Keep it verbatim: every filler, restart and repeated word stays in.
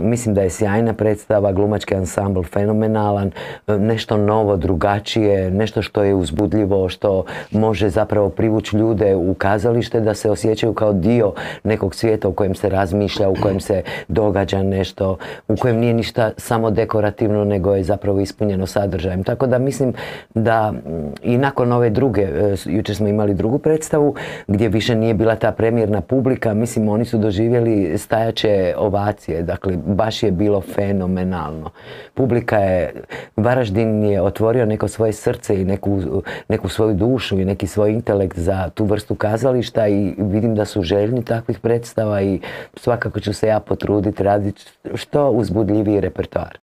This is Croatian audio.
Mislim da je sjajna predstava, glumački ansambl fenomenalan, nešto novo, drugačije, nešto što je uzbudljivo, što može zapravo privući ljude u kazalište da se osjećaju kao dio nekog svijeta u kojem se razmišlja, u kojem se događa nešto, u kojem nije ništa samo dekorativno, nego je zapravo ispunjeno sadržajem. Tako da mislim da i nakon ove druge, jučer smo imali drugu predstavu gdje više nije bila ta premijerna publika, mislim oni su doživjeli stajaće ovacije, dakle baš je bilo fenomenalno. Publika je, Varaždin je otvorio neko svoje srce i neku, neku svoju dušu i neki svoj intelekt za tu vrstu kazališta i vidim da su željni takvih predstava i svakako ću se ja potruditi raditi što uzbudljiviji repertoar.